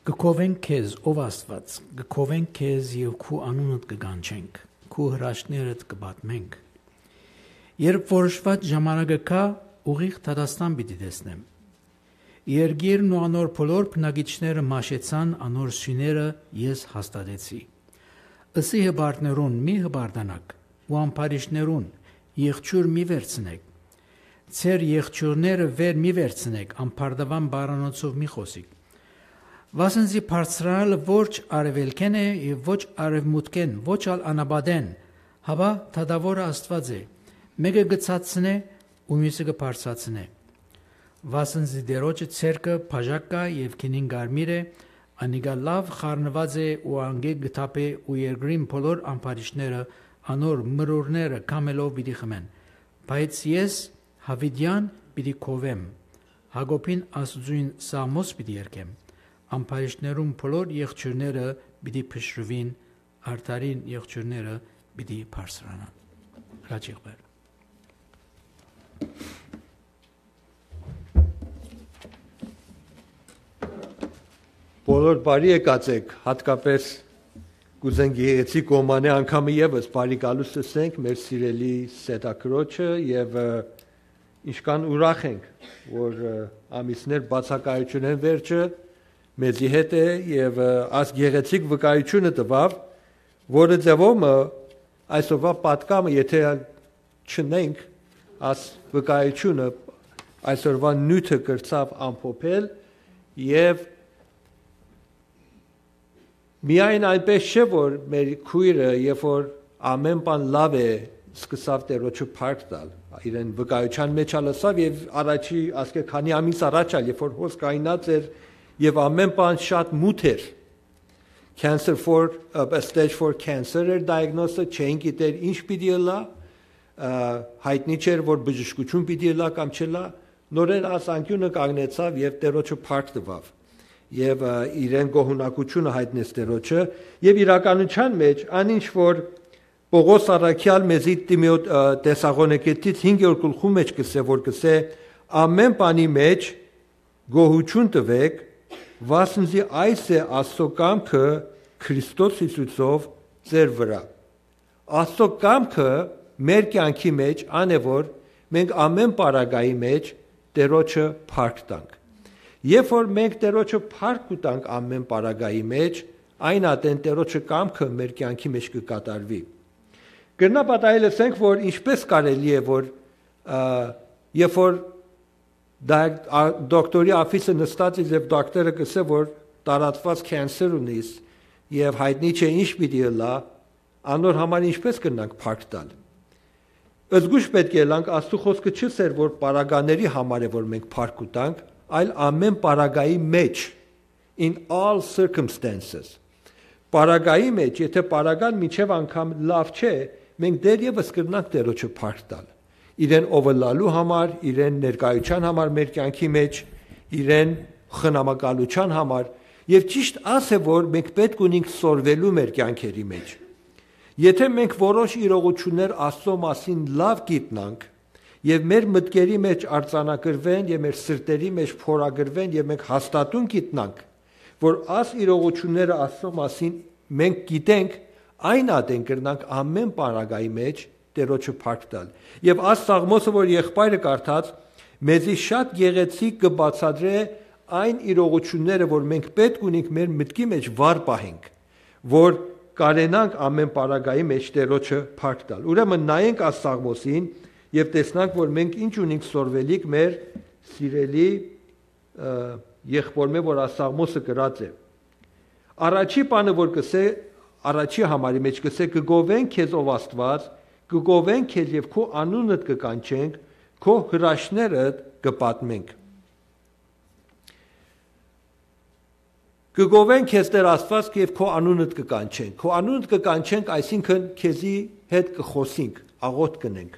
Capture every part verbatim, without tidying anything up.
Կը գովենք քեզ, ով Աստուած, կը գովենք քեզ եւ քու անունդ կը կանչենք, քու հրաշքներդ կը պատմենք։ Երբ որոշուած ժամանակը գայ, ուղիղ դատաստան պիտի տեսնեմ։ Երկիրն ու անոր բոլոր բնակիչները մաշեցան, անոր սիւները ես հաստատեցի։ Ըսի հպարտներուն՝ մի հպարտանաք, ու ամբարիշներուն՝ եղջիւր մի վերցնէք։ Ձեր եղջիւրները վեր մի վերցնէք, ամբարտաւան բառանոցով մի խօսիք։ Վասն զի բարձրանալը ոչ արեւելքէն է եւ ոչ արեւմուտքէն, ոչ ալ անապատէն, հապա դատաւորը Աստուած է։ Մէկը կը ցածցնէ ու միւսը կը բարձրացնէ։ Վասն զի Տէրոջը ձեռքը բաժակ կայ եւ գինին կարմիր է, անիկա լաւ խառնուած է ու անկէ կը թափէ ու երկրին բոլոր ամբարիշները անոր մրուրները քամելով պիտի խմեն։ Բայց ես Յաւիտեան պիտի գովեմ, Յակոբին Աստուծոյն սաղմոս պիտի երգեմ, ամբարիշներուն բոլոր եղջիւրները պիտի փշրուին, արդարին եղջիւրները պիտի բարձրանան։ Հրաչիղբեր։ Բոլոր բարի եկած եք, հատկապես կ'ուզենք գեղեցիկ կողմանի անգամը եւս բարի գալուստ ըսենք մեր սիրելի Սեդա Քրոջը եւ, ը, ինչքան ուրախ ենք, որ, ը, ամիսներ բացակայութիւնէն վերջը մեզի հետ է եւ, ը, աս գեղեցիկ վկայութիւնը տուաւ, որը ձեւով մը այսօրվա պատկամը, եթե չնենք, աս վկայութիւնը այսօրվա նիւթը կրցաւ ամփոփել եւ միայն այնպես չէ, որ մեր քոյրը, երբ որ ամեն բան լաւ է, սկսաւ Տէրոջը փառք տալ, իրեն վկայութեան մեջ ալ ըսաւ եւ առաջի, ասկէ քանի ամիս առաջ ալ, երբ որ հոս կայնած էր եւ ամեն բան շատ մութ էր, cancer four, ը, stage four cancer էր diagnose-ը, չէին գիտեր ինչ պիտի ըլլայ, ը, յայտնի չէր, որ բժշկութիւն պիտի ըլլայ կամ չըլլայ, նորէն աս անկիւնը կանգնեցաւ եւ Տէրոջը փառք տուաւ։ Եւ, ը, իրեն գոհունակութիւնը յայտնեց Տէրոջը, եւ իրականութեան մեջ, ան ինչ որ Պողոս առաքեալ մեզի Տիմոթ-, ը, Տեսաղոնիկեցիներուն հինգերորդ գլխու մեջ կ'ըսէ, որ կ'ըսէ, «Ամեն բանի մեջ գոհութիւն տուէք, վասն զի այս է Աստուծոյ կամքը Քրիստոս Յիսուսով ձեր վրայ»։ Աստուծոյ կամքը մեր կեանքի մեջ ան է, որ մենք ամեն պարագայի մեջ Տէրոջը փառք տանք։ Երբ որ մենք Տէրոջը փառք կու տանք ամեն պարագայի մեջ, այն ատեն Տէրոջը կամքը մեր կեանքի մեջ կը կատարուի։ Կրնայ պատահել ըսենք, որ ինչպես կարելի է, որ, ը, երբ որ դա-, ա-, դոկտորի ափիսը նստած ես եւ դոկտորը կ'ըսէ, որ տարածուած cancer ունիս եւ յայտնի չէ ինչ պիտի ըլլայ, անոր համար ինչպես կրնանք փառք տալ։ Զգուշ պէտք է ըլլանք, Աստուծոյ խօսքը չ'ըսէր, որ պարագաների համար է, որ մենք փառք կու տանք, այլ ամեն պարագայի մեջ, in all circumstances։ Պարագայի մեջ, եթե պարագան մինչեւ անգամ լաւ չէ, մենք դեռեւս կրնանք Տէրոջը փառք տալ։ Իրեն ով ըլլալու համար, իրեն ներկայութեան համար մեր կեանքի մեջ, իրեն խնամակալութեան համար, եւ ճիշտ աս է, որ մենք պէտք ունենք սորվելու մեր կեանքերի մեջ։ Եթե մենք որոշ իրողութիւններ Աստուծոյ մասին լաւ գիտնանք եւ մեր մտքերի մեջ արձանագրուեն եւ մեր սրտերի մեջ փորագրուեն եւ մենք հաստատուն գիտնանք, որ աս իրողութիւնները Աստուծոյ մասին մենք գիտենք, այն ատեն կրնանք ամեն պարագայի մեջ Տէրոջը փառք տալ։ Եւ աս Սաղմոսը, որ եղբայրը կարդաց, մեզի շատ գեղեցիկ կը բացատրէ այն իրողութիւնները, որ մենք պէտք ունենք մեր մտքի մեջ վառ պահենք, որ կարենանք ամեն պարագայի մեջ Տէրոջը փառք տալ։ Ուրեմն նայենք աս Սաղմոսին եւ տեսնանք, որ մենք ինչ ունենք սորվելիք մեր սիրելի, ը, եղբորմէ, որ աս Սաղմոսը գրած է։ Առաջի բանը, որ կ'ըսէ, առաջի համարի մեջ կ'ըսէ, «Կը գովենք քեզ, ով Աստուած, կը գովենք քեզ եւ քու անունդ կը կանչենք, քու հրաշքներդ կը պատմենք»։ «Կը գովենք քեզ, Տէր Աստուած, եւ քու անունդ կը կանչենք»։ Քու անունդ կը կանչենք, այսինքն՝ քեզի հետ կը խօսինք, աղօթք կ'ընենք։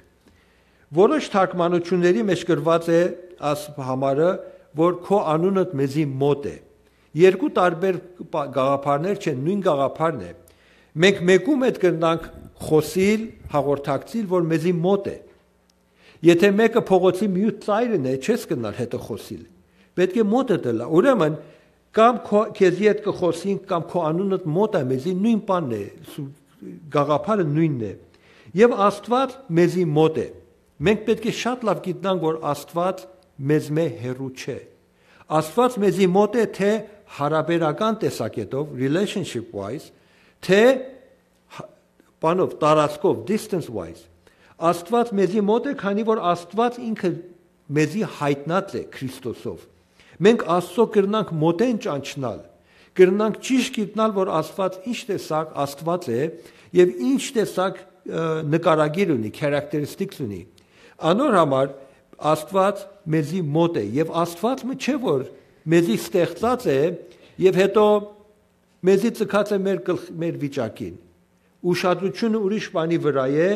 Որոշ թարգմանութիւնների մեջ գրուած է աս համարը, որ քու անունդ մեզի մօտ է։ Երկու տարբեր պա-, գաղափարներ չեն, նոյն գաղափարն է։ Մենք մէկու մէտ կրնանք խօսիլ, հաղորդակցիլ, որ մեզի մօտ է։ Եթե մէկը փողոցի միւս ծայրն է, չես կրնար հետը խօսիլ։ Պէտք է մօտդ ըլլայ։ Ուրեմն, Կամ քո, քեզի հետ կը խօսինք, կամ քո անունդ մօտ է մեզի, նոյն բանն է, սու-, գաղափարը նոյնն է։ Եւ Աստուած մեզի մօտ է։ Մենք պէտք է շատ լաւ գիտնանք, որ Աստուած մեզմէ հեռու չէ։ Աստուած մեզի մօտ է թէ յարաբերական տեսակէտով, relationship wise, թէ հա-, բանով, տարածքով, distance wise։ Աստուած մեզի մօտ է, քանի որ Աստուած ինքը մեզի յայտնած է Քրիստոսով։ Մենք Աստծո կրնանք մօտէն ճանչնալ, կրնանք ճիշդ գիտնալ, որ Աստուած ինչ տեսակ Աստուած է եւ ինչ տեսակ, ը, նկարագիր ունի, characteristics ունի։ Անոր համար Աստուած մեզի մօտ է եւ Աստուած մը չէ, որ մեզի ստեղծած է եւ հետո մեզի ձգած է մեր գլխ-, մեր վիճակին, ուշադրությունը ուրիշ բանի վրայ է,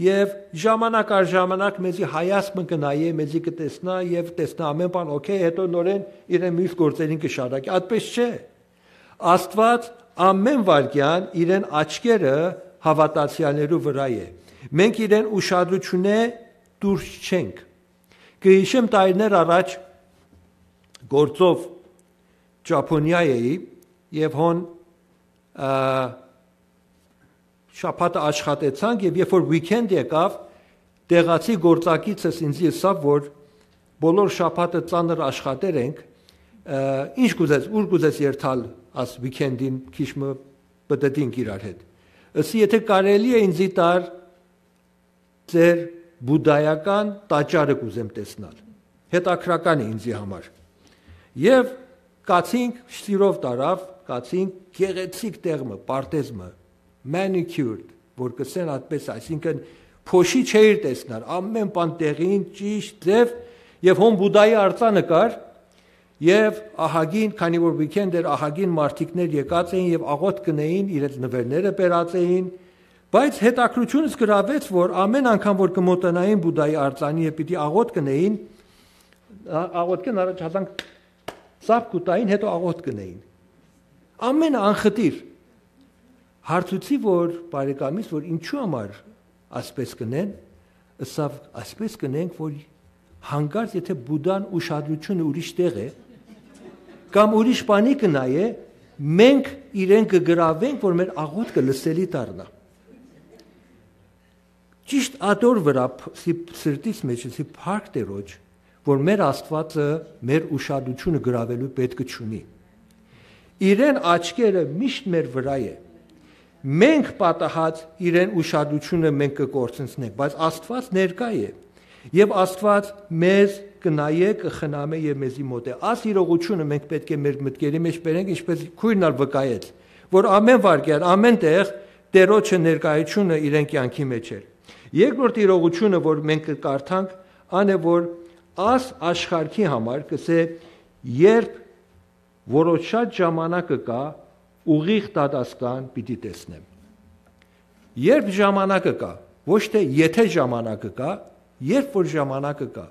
եւ ժամանակ առ ժամանակ մեզի հայացք մը կը նայէ, մեզի կը տեսնայ եւ տեսնայ ամէն բան օքէյ, հետո նորէն իրեն միւս գործերին կը շարակի։ Այդպես չէ։ Աստուած ամէն վայրկեան իրեն աչքերը հաւատացեալներու վրայ է։ Մենք իրեն ուշադրութիւնէ դուրս չենք։ Կը յիշեմ, տարիներ առաջ գործով Ճապոնիա էի եւ հոն, ա, շաբաթը աշխատեցանք եւ երբ որ weekend եկաւ, տեղացի գործակիցս ինձի ըսաւ, որ բոլոր շաբաթը ծանր աշխատեր ենք, ա, ինչ կուզես, ուր կուզես երթալ աս weekend-ին, քիչ մը պտտինք իրար հետ։ Ըսի, եթե կարելի է ինձի տար ձեր բուդայական տաճարը կուզեմ տեսնալ։ Հետաքրական է ինձի համար։ Եւ կացինք, սիրով տարաւ, կացինք գեղեցիկ տեղ մը, պարտեզ մը, manicured, որ կսեն այդպես, այսինքն փոշի չէիր տեսնար, ամեն բան տեղին, ճիշտ, ձև, եւ հոն Բուդայի արձանը կար, եւ ահագին, քանի որ weekend էր, ահագին մարդիկներ եկած էին եւ աղոթք կնեին, իրենց նվերները բերած էին, բայց հետաքրքրությունս գրավեց, որ ամեն անգամ, որ կմոտենային Բուդայի արձանի եւ պիտի աղոթք կնեին, ա-, աղոթքին առաջ հազանգ ծափ կուտային, հետո աղոթք կնեին։ Ամեն անխտիր։ Հարցուցի, որ բարեկամից, որ ինչու համար ասպես կնեն, ըսաւ, «Ասպես կնենք, որ հանկարծ եթե Բուդան ուշադրությունը ուրիշ տեղ է, կամ ուրիշ բանի կնայ է, մենք իրեն կգրավենք, որ մեր աղոթքը լսելի դառնա»։ Ճիշտ ատոր վրայ փ-, սի-, սրտիս մեջ սի փառք Տիրոջ, որ մեր Աստուածը մեր ուշադրությունը գրավելու պետք չունի։ Իրեն աչքերը միշտ մեր վրայ է։ Մենք պատահած իրեն ուշադրությունը մենք կկործնցնենք, բայց Աստուած ներկայ է։ Եվ Աստուած մեզ կնայէ, կխնամէ եւ մեզի մօտ է։ Աս իրողությունը մենք պետք է մեր մտքերի մեջ բերենք, ինչպես քույրն ալ վկայեց, որ ամեն վարքեան, ամեն տեղ Տիրոջը ներկայությունը իրեն կյանքի մեջ էր։ Երկրորդ իրողությունը, որ մենք կկարդանք, ան է, որ աս աշխարհի համար կսե, երբ որոշած ժամանակը կա, ուղիղ դատաստան պիտի տեսնեմ։ Երբ ժամանակը կա, ոչ թե եթե ժամանակը կա, երբ որ ժամանակը կա։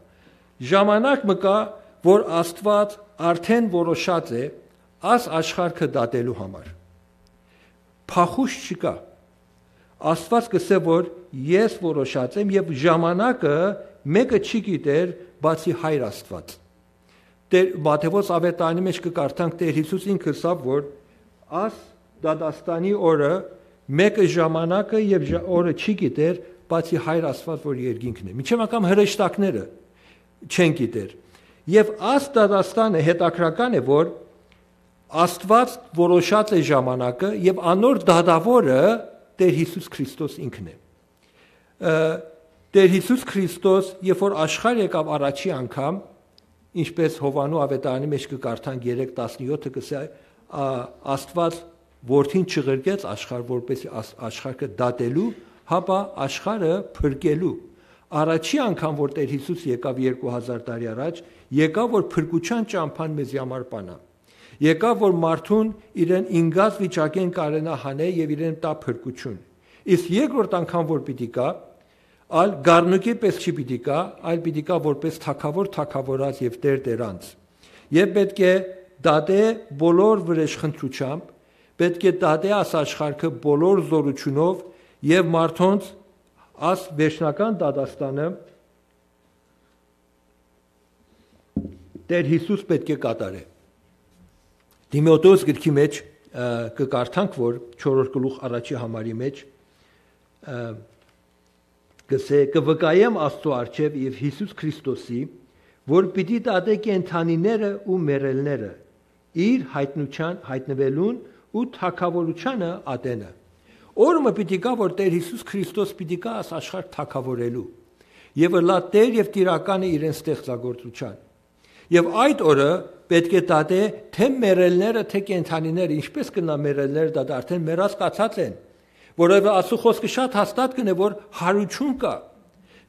Ժամանակ մը կա, որ Աստուած արդեն որոշած է աս աշխարհը դատելու համար։ Փախուշ չկա։ Աստուած կսե, որ ես որոշած եմ, եւ ժամանակը մեկը չի գիտեր, բացի Հայր Աստուած։ Տեր, Մատթեոս ավետարանի մեջ կկարդանք, Տեր Յիսուս ինքը ըսաւ, որ աս դատաստանի օրը մեկը ժամանակը եւ ժա-, օրը չի գիտեր, բացի Հայր Աստուած, որ երկինքն է։ Մինչեւ անգամ հրեշտակները չեն գիտեր։ Եւ աս դատաստանը հետաքրական է, որ Աստուած որոշած է ժամանակը եւ անոր դատաւորը Տեր Յիսուս Քրիստոս ինքն է։ Ը, Տեր Յիսուս Քրիստոս, երբ որ աշխարհ եկաւ առաջի անգամ, ինչպես Յովհաննու ավետարանի մեջ կկարդանք երեք տասնյոթը, կսե, ա, Աստուած որդին չղրկեց աշխարհ, որպեսզի աս-, աշխարհը դատելու, հապա աշխարհը փրկելու։ Առաջի անգամ, որ Տեր Յիսուս եկաւ երկու հազար տարի առաջ, եկաւ, որ փրկության ճամփան մեզի համար բանա։ Եկաւ, որ մարդուն իրեն ինգած վիճակեն կարենայ հանէ եւ իրեն տայ փրկություն։ Իսկ երկրորդ անգամ, որ պիտի գայ, ալ գառնուկի պես չի պիտի գայ, այլ պիտի գայ որպես թագաւոր թագաւորաց եւ Տեր Տերանց։ Եւ պէտք է դատէ բոլոր վրեժխնդրութեամբ, պէտք է դատէ աս աշխարհը բոլոր զօրութիւնով եւ մարդոնց աս վերջնական դատաստանը Տեր Յիսուս պէտք է կատարէ։ Տիմոթէոս գրքի մէջ, ը, կը կարդանք, որ չորրորդ գլուխ առաջի համարի մէջ, ը, կսէ, «Կը վկայեմ Աստծո առջեւ եւ Յիսուս Քրիստոսի, որ պիտի դատէ կենդանիները ու մեռելները, իր յայտնութեան, յայտնուելուն ու թագաւորութեանը ատենը»։ Օր մը պիտի գայ, որ Տէր Յիսուս Քրիստոս պիտի գայ աս աշխարհ թագաւորելու եւ ըլլայ Տէր եւ Տիրականը իրեն ստեղծագործութեան։ Եւ այդ օրը պէտք է դատէ թէ մեռելները, թէ կենդանիները, ինչպէս կրնայ մեռելները դատել, արդէն մեռած կացած են, որովհետեւ Աստուծոյ խօսքը շատ հաստատ կ'ընէ, որ յարութիւն կայ։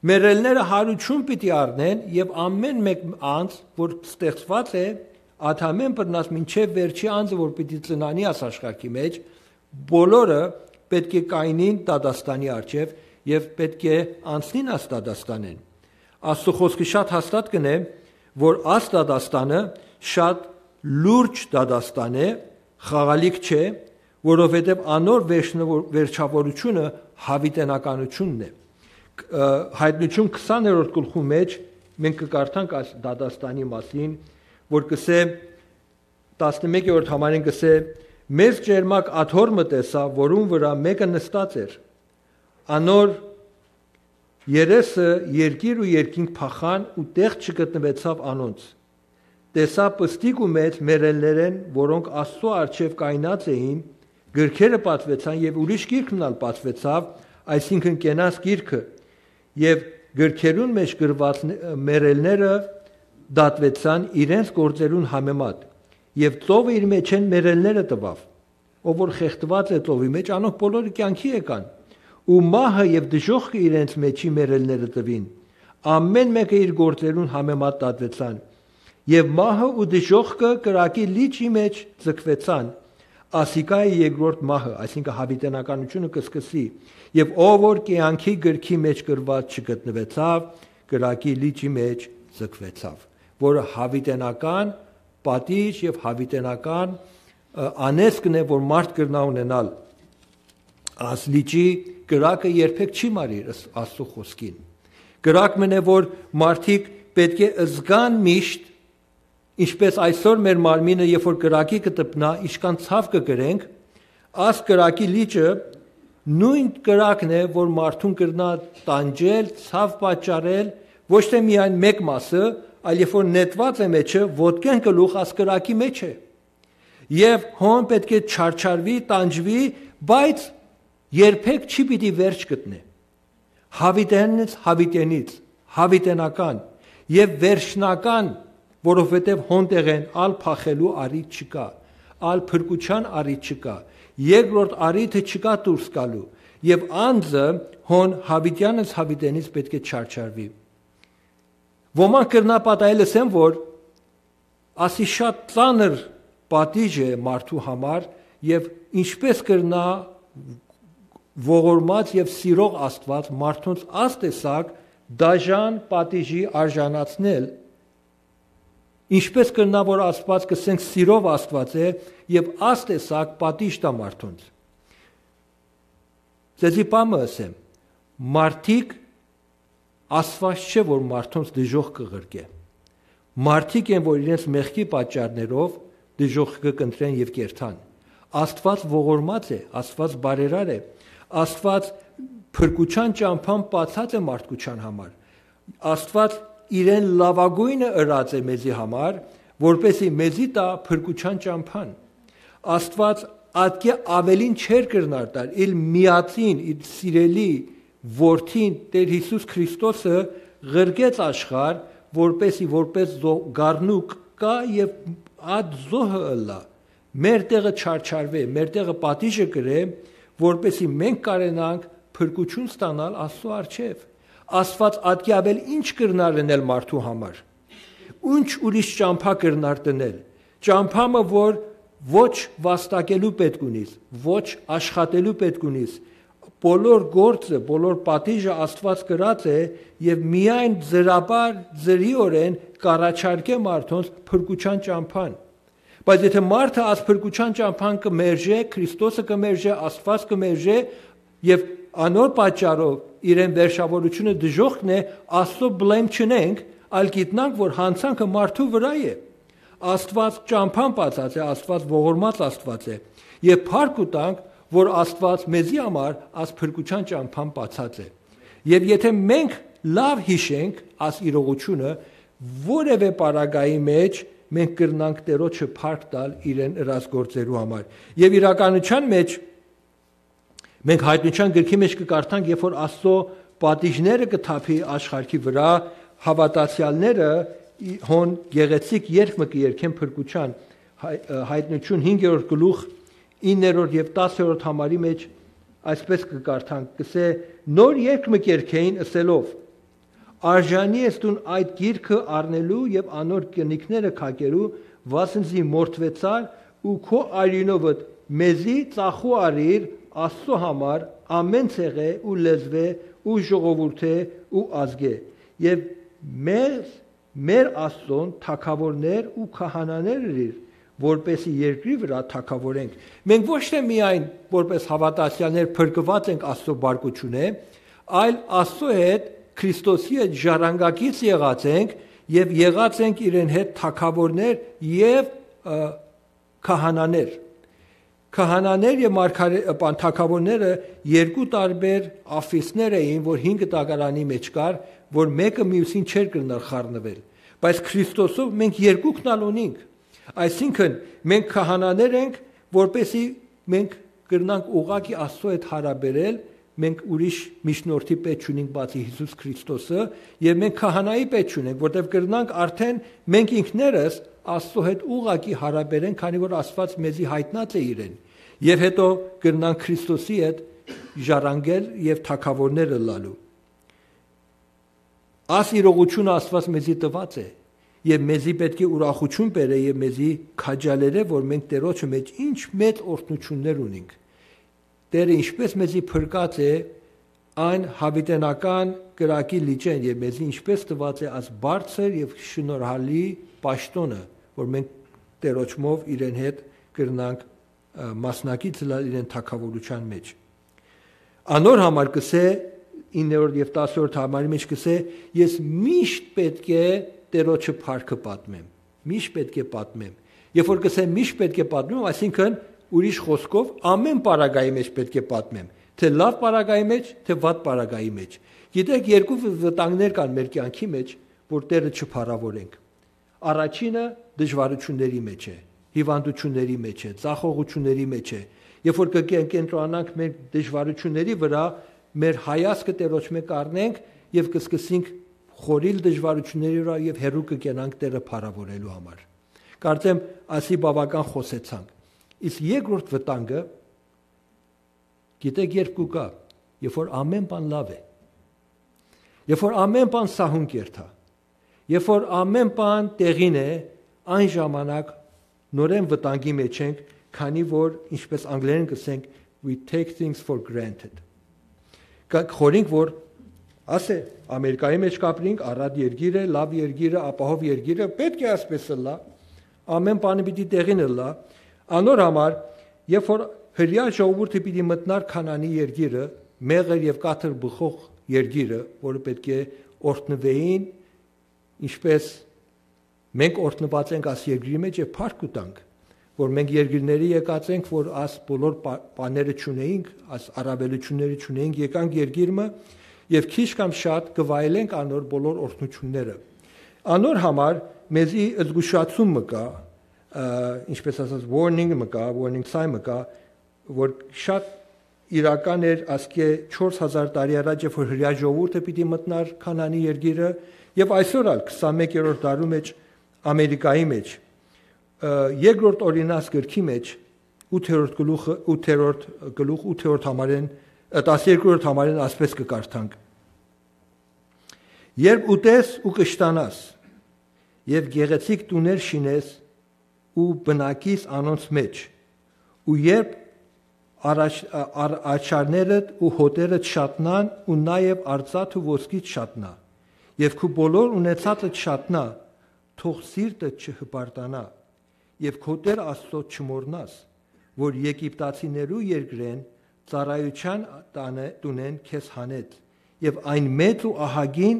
Մեռելները յարութիւն պիտի առնեն եւ ամէն մէկ անձ, որ ստեղծուած է, Ադամէն բռնած մինչեւ վերջի անձը, որ պիտի ծնանի աս աշխարհի մէջ, բոլորը պէտք է կայնին դատաստանի առջեւ եւ պէտք է անցնին աս դատաստանէն։ Աստուծոյ խօսքը շատ հաստատ կ'ընէ, որ աս դատաստանը շատ լուրջ դատաստան է, խաղալիք չէ, որովհետեւ անոր վերջնվոր-, վերջավորությունը յաւիտենականությունն է։ Ք-, ը, Յայտնութիւն քսաներորդ գլխու մէջ մենք կը կարդանք այս դատաստանի մասին, որ կսէ, տասնմեկերորդ համարին կսէ. «Մեծ ճերմակ աթոռ մը տեսայ, որուն վրայ մէկը նստած էր։ Անոր երեսը երկիր ու երկինք փախան ու տեղ չգտնուեցաւ անոնց։ Տեսայ պստիկ ու մեծ մեռելներէն, որոնք Աստուծոյ առջեւ կայնած էին, գրքերը բացուեցան եւ ուրիշ գիրք մըն ալ բացուեցաւ, այսինքն՝ կենաց գիրքը, եւ գրքերուն մէջ գրուած ն-, մեռելները դատուեցան իրենց գործերուն համեմատ, եւ ծովը իր մէջէն մեռելները տուաւ։ Ով որ խեղդուած է ծովի մէջ, անոնք բոլորը կեանքի եկան, ու մահը եւ դժոխքը իրենց մէջի մեռելները տուին։ Ամէն մէկը իր գործերուն համեմատ դատուեցան։ Եւ մահը ու դժոխքը կրակի լիճի մէջ ձգուեցան։ Ասիկա է երկրորդ մահը», այսինքն՝ յաւիտենականությունը կը սկսի։ «Եւ ով որ կեանքի գրքի մէջ գրուած չգտնուեցաւ, կրակի լիճի մէջ ձգուեցաւ», որը յաւիտենական պատիժ եւ յաւիտենական, ը, անեծքն է, որ մարդ կրնայ ունենալ։ Աս լիճի կրակը երբեք չի մարիր, ըս-, Աստուծոյ խօսքին։ Կրակ մըն է, որ մարդիկ պէտք է զգան միշտ, ինչպէս այսօր մեր մարմինը, երբ որ կրակի կը տպնայ, ինչքան ցաւ կը կրենք, աս կրակի լիճը նոյն կրակն է, որ մարդուն կրնայ տանջել, ցաւ պատճառել, ոչ թէ միայն մէկ մասը, այլ երբ որ նետուած է մէջը, ոտքէն գլուխ աս կրակի մէջ է։ Եւ հոն պէտք է չարչարուի, տանջուի, բայց երբեք չի պիտի վերջ գտնէ։ Յաւիտենից, յաւիտենից, յաւիտենական եւ վերջնական, որովհետեւ հոն տեղէն ալ փախելու առիթ չկայ, ալ փրկութեան առիթ չկայ, երկրորդ առիթը չկայ դուրս գալու, եւ անձը հոն յաւիտեանից, յաւիտենից պէտք է չարչարուի։ Ոմանք կրնայ պատահել, ըսեն, որ ասի շատ ծանր պատիժ է մարդու համար, եւ ինչպէս կրնայ ողորմած եւ սիրող Աստուած մարդոնց աս տեսակ դաժան պատիժի արժանացնել, ինչպէս կրնայ, որ Աստուած, կսենք, սիրով Աստուած է եւ աս տեսակ պատիժ տայ մարդոնց։ Ձեզի բան մը ըսեմ, մարդիկ Աստուած չէ, որ մարդոնց դժոխքը ղրկէ։ Մարդիկ են, որ իրենց մեղքի պատճառներով դժոխքը կընտրեն եւ կերթան։ Աստուած ողորմած է, Աստուած բարերար է, Աստուած փրկութեան ճամբան բացած է մարդկության համար։ Աստուած իրեն լաւագոյնը ըրած է մեզի համար, որպեսզի մեզի տայ փրկութեան ճամբան։ Աստուած ատկէ աւելին չէր կրնար տալ, իր միածին, իր սիրելի որդին, Տէր Յիսուս Քրիստոսը ղրկեց աշխարհ, որպեսզի որպես զո-, գառնուկ կայ եւ այդ զոհը ըլլայ, մեր տեղը չարչարուէ, մեր տեղը պատիժը կրէ, որպեսզի մենք կարենանք փրկութիւն ստանալ Աստուծոյ առջեւ։ Աստուած ատկէ աւել ի՞նչ կրնար ընել մարդու համար։ Ի՞նչ ուրիշ ճամբայ կրնար դնել։ Ճամբայ մը, որ ոչ վաստակելու պէտք ունիս, ոչ աշխատելու պէտք ունիս, բոլոր գործը, բոլոր պատիժը Աստուած կրած է եւ միայն ձրաբար, ձրիօրէն կառաջարկէ մարդոնց փրկութեան ճամբան։ Բայց եթէ մարդը աս փրկութեան ճամբան կը մերժէ, Քրիստոսը կը մերժէ, Աստուած կը մերժէ եւ անոր պատճառով իրեն վերջավորությունը դժոխքն է, Աստծո բլեմ չնենք, այլ գիտնանք, որ յանցանքը մարդու վրայ է։ Աստուած ճամբան բացած է, Աստուած ողորմած Աստուած է։ Եւ փառք ու տանք, որ Աստուած մեզի համար աս փրկութեան ճամբան բացած է։ Եւ եթէ մենք լաւ յիշենք աս իրողութիւնը, որեւէ պարագայի մէջ մենք կրնանք Տէրոջը փառք տալ իրեն ըրած գործերու համար։ Եւ իրականութեան մէջ մենք Յայտնութեան գրքի մէջ կը կարդանք, երբ որ Աստծո պատիժները կը թափի աշխարհի վրայ, հաւատացեալները ի-, հոն գեղեցիկ երգ մը կը երգեն փրկութեան, Հայ-, ը, Յայտնութիւն հինգերորդ գլուխ, իններորդ եւ տասներորդ համարի մէջ այսպես կը կարդանք, կսէ. «Նոր երգ մը կերգէին ըսելով. "Արժանի ես դուն այդ գիրքը առնելու եւ անոր կնիքները քակելու, վասն զի մորթուեցար ու քո արիւնովդ մեզի ծախու առիր Աստծո համար ամեն ցեղէ ու լեզուէ ու ժողովուրդէ ու ազգէ, եւ մեզ, մեր Աստծոն թագաւորներ ու քահանաներ ըրիր, որպեսզի երկրի վրայ թագաւորենք"։ Մենք ոչ թե միայն որպես հաւատացեալներ փրկուած ենք Աստծո բարկութիւնէ, այլ Աստծո հետ Քրիստոսի հետ ժառանգակից եղած ենք եւ եղած ենք իրեն հետ թագաւորներ եւ, ը, քահանաներ։ Քահանաներ եւ մարգարէ-, ը, բան, թագաւորները երկու տարբեր աֆիսներ էին, որ հին կտակարանի մէջ կար, որ մէկը միւսին չէր կրնար խառնուել։ Բայց Քրիստոսով մենք երկուքն ալ ունինք։ Այսինքն, մենք քահանաներ ենք, որպեսզի մենք կրնանք ուղղակի Աստծո հետ յարաբերել, մենք ուրիշ միջնորդի պետք չունենք բացի Յիսուս Քրիստոսը, եւ մենք քահանայի պետք չունենք, որտեղ կրնանք արդեն մենք ինքներս Աստծո հետ ուղղակի յարաբերենք, քանի որ Աստված մեզի յայտնած է իրեն, եւ հետո կրնանք Քրիստոսի հետ ժառանգել եւ թագաւորներ ըլլալու։ Աս իրողութիւնը Աստված մեզի տուած է, եւ մեզի պէտք է ուրախութիւն բերէ եւ մեզի քաջալերէ, որ մենք Տէրոջը մէջ ինչ մեծ օրհնութիւններ ունինք։ Տէրը ինչպէս մեզի փրկած է այն յաւիտենական կրակի լիճէն եւ մեզի ինչպէս տուած է այս բարձր եւ շնորհալի պաշտօնը, որ մենք Տէրոջմով իրեն հետ կրնանք, ը, մասնակից ըլլալ իրեն թագաւորութեան մէջ։ Անոր համար կսէ, իններորդ եւ տասներորդ համարի մէջ կսէ. "Ես միշտ պէտք է Տէրոջը փառքը պատմեմ"։ Միշտ պէտք է պատմեմ։ Երբ որ կսեմ միշտ պէտք է պատմեմ, այսինքն, ուրիշ խօսքով, ամեն պարագայի մէջ պէտք է պատմեմ, թէ լաւ պարագայի մէջ, թէ վատ պարագայի մէջ։ Գիտեք, երկու վ-, վտանգներ կան մեր կեանքի մէջ, որ Տէրը չփառաւորենք։ Առաջինը դժվարութիւնների մէջ է, հիւանդութիւնների մէջ է, ձախողութիւնների մէջ է։ Երբ որ կը կեն-, կենտրոնանանք մեր դժվարութիւնների վրայ, մեր հայացքը Տէրոջմէ կառնենք եւ կսկսենք խորիլ դժվարութիւնների վրայ եւ հեռու կը կենանք Տէրը փառաւորելու համար։ Կարծեմ, ասի բաւական խօսեցանք։ Իսկ երկրորդ վտանգը, գիտեք, երբ կու գայ, երբ որ ամեն բան լաւ է, երբ որ ամեն բան սահուն կերթայ, երբ որ ամեն բան տեղին է, այն ժամանակ նորէն վտանգի մեջ ենք, քանի որ, ինչպես անգլերեն կսենք, "We take things for granted"։ Կը խորհենք, որ, ասե, Ամերիկայի մէջ կապրինք, առատ երկիր է, լաւ երկիր է, ապահով երկիր է, պէտք է այսպես ըլլայ, ամեն բանը պիտի տեղին ըլլայ։ Անոր համար, երբ որ հրեայ ժողովուրդը պիտի մտնար Քանանի երկիրը, մեղր եւ կաթր բխող երկիրը, որը պէտք է օրհնուէին, ինչպես մենք օրհնուած ենք աս երկրի մէջ եւ փառք կու տանք, որ մենք երկրների եկած ենք, որ աս բոլոր պա-, բաները չունեինք, աս առավելությունները չունեինք, եկանք երկիր մը եւ քիչ կամ շատ կը վայելենք անոր բոլոր օրհնությունները։ Անոր համար մեզի զգուշացում մը կայ, ը, ինչպես ասած, warning մը կայ, warning sign մը կայ, որ շատ իրական էր ասկէ չորս հազար տարի առաջ, երբ որ հրեայ ժողովուրդը պիտի մտնար Քանանի երկիրը, եւ այսօր ալ քսանմեկերորդ դարու մէջ Ամերիկայի մէջ, ը, երկրորդ օրինաց գրքի մէջ, ութերորդ գլուխը, ութերորդ գլուխ, ութերորդ համարեն, ը, տասներկերորդ համարեն ասպես կը կարդանք. "Երբ ուտես ու կշտանաս, եւ գեղեցիկ տուներ շինես ու բնակիս անոնց մէջ, ու երբ առաջ-, ա-, առ-, աչառներդ ու հոտերդ շատնան ու նաեւ արծաթ ու ոսկիդ շատնայ, եւ քու բոլոր ունեցածդ շատնայ, թող սիրտդ չհպարտանայ, եւ քո Տէր Աստծոդ չմոռնաս, որ Եգիպտացիներու երկրէն ծառայութեան տանը, տունէն քեզ հանեց, եւ այն մեծ ու ահագին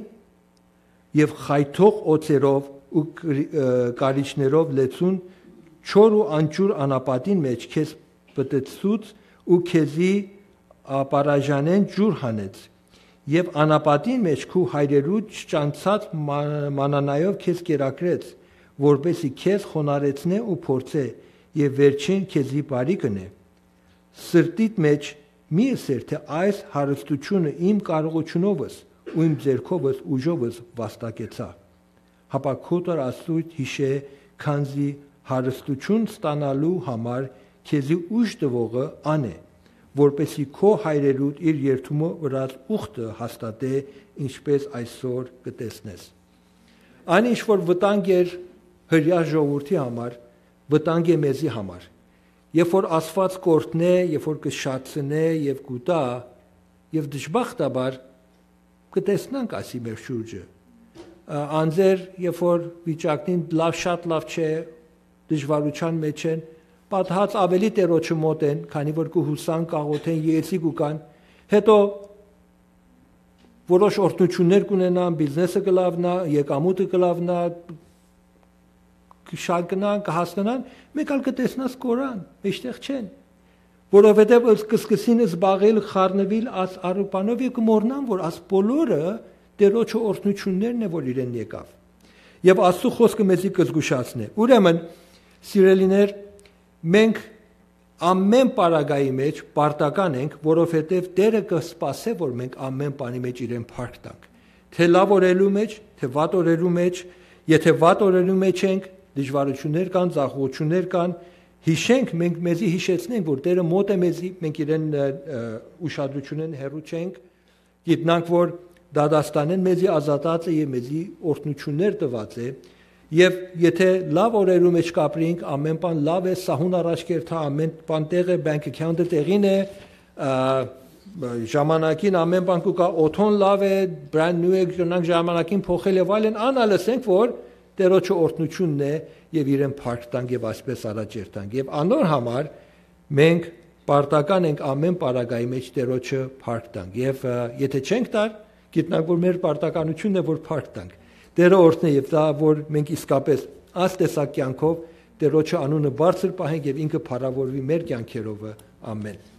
եւ խայթող օձերով ու կրի-, ը, կարիճներով լեցուն, չոր ու անջուր անապատին մէջ քեզ պտտցուց ու քեզի ապարաժանէն ջուր հանեց։ Եւ անապատին մէջ քու հայրերու չճանչցած մա-, մանանայով քեզ կերակրեց, որպեսզի քեզ խոնարհեցնէ ու փորձէ, եւ վերջին քեզի բարի կ'ընէ։ Սրտիդ մէջ մի ըսեր, թէ այս հարստությունը իմ կարողութիւնովս ու իմ ձեռքովս ուժովս վաստակեցայ։ Հապա քո Տար Աստուծոյդ յիշէ, քանզի հարստութիւն ստանալու համար քեզի ուժ տուողը ան է, որպեսզի քո հայրերուդ իր երդումը վրաց ուխտը հաստատէ, ինչպէս այսօր կը տեսնես։ Այն ինչ որ վտանգ էր հրեա ժողովուրդի համար, վտանգ է մեզի համար։ Երբ որ Աստուած կ'օրհնէ, երբ որ կը շարցնէ եւ կ'ուտայ, եւ դժբախտաբար կը տեսնանք ասի մեր շուրջը։ Ա, անձեր, երբ որ վիճակին լաւ, շատ լաւ չէ, դժուարութեան մէջ են, պատահած աւելի Տէրոջը մօտ են, քանի որ կը յուսան, կ'աղօթեն, երեսի կու կան, հետո որոշ օրհնութիւններ կ'ունենան, բիզնեսը կը լաւնայ, եկամուտը կը լաւնայ, կը շարքնան, կը հասնանան, մէկ ալ կը տեսնաս կորան, մէջտեղ չեն, որովհետեւ ըս-, կը սկսին զբաղել, խառնուիլ աս արուպանով եւ կը մոռնան, որ աս բոլորը Տէրոջը օրհնութիւններն է, որ իրեն եկաւ։ Եւ Աստուծոյ խօսքը մեզի կը զգուշացնէ։ Ուրեմն, սիրելիներ, մենք ամէն պարագայի մէջ պարտական ենք, որովհետեւ Տէրը կը սպասէ, որ մենք ամէն բանի մէջ իրեն փառք տանք։ Թէ լաւ օրերու մէջ, թէ վատ օրերու մէջ, եթէ վատ օրերու մէջ ենք, դժուարութիւններ կան, ձախողութիւններ կան, յիշենք, մենք մեզի յիշեցնենք, որ Տէրը մօտ է մեզի, մենք իրեն, ը, ը, ուշադրութիւնէն հեռու չենք, գիտնանք, որ դատաստանէն մեզի ազատած է եւ մեզի օրհնութիւններ տուած է, եւ եթէ լաւ օրերու մէջ կ'ապրինք, ամէն բան լաւ է, սահուն առաջ կ'երթայ, ամէն բան տեղ է, bank account-ը տեղին է, ա, ժամանակին ամէն բան կու գայ, օթոն լաւ է, brand new է, կրնանք ժամանակին փոխել եւ այլն, ան ալ ըսենք, որ Տէրոջը օրհնութիւնն է եւ իրեն փառք տանք եւ այսպես առաջ երթանք։ Եւ անոր համար մենք պարտական ենք ամէն պարագայի մէջ Տէրոջը փառք տանք։ Եւ, ը, եթէ չենք տար, գիտնանք, որ մեր պարտականութիւնն է, որ փառք տանք։ Տէրը օրհնէ եւ տայ, որ մենք իսկապես այս տեսակ կեանքով Տէրոջը անունը բարձր պահենք եւ ինքը փառաւորուի մեր կեանքերովը։ Ամէն։